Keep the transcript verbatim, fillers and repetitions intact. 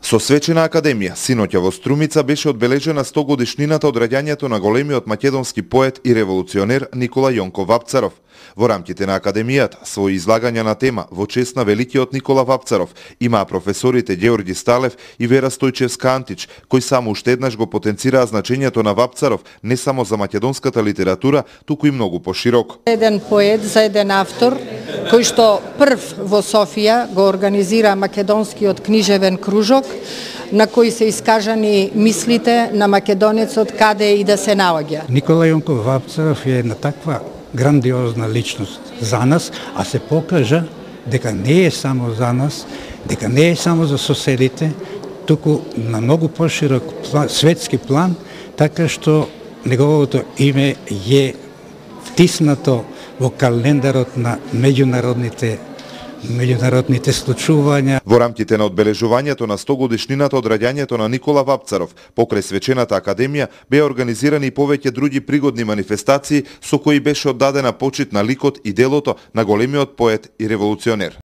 Со свечена академија, синоќа во Струмица беше одбележена сто годишнината од раѓањето на големиот македонски поет и револуционер Никола Јонков Вапцаров. Во рамките на академијата, своји излагања на тема во чест на великиот Никола Вапцаров имаа професорите Ѓеорги Сталев и Вера Стојчевска Антич, кои само уште еднаш го потенцираа значењето на Вапцаров не само за македонската литература, туку и многу пошироко. Еден поет за еден автор кој што прв во Софија го организира македонскиот книжевен кружок, на кој се искажани мислите на македонецот каде и да се наоѓа. Никола Јонков Вапцаров е една таква грандиозна личност за нас, а се покажа дека не е само за нас, дека не е само за соседите, туку на многу поширок план, светски план, така што неговото име е втиснато во календарот на меѓународните меѓународните случувања. Во рамките на одбележувањето на сто годишнината од раѓањето на Никола Вапцаров, покрај свечената академија беа организирани и повеќе други пригодни манифестации со кои беше оддадена почит на ликот и делото на големиот поет и револуционер.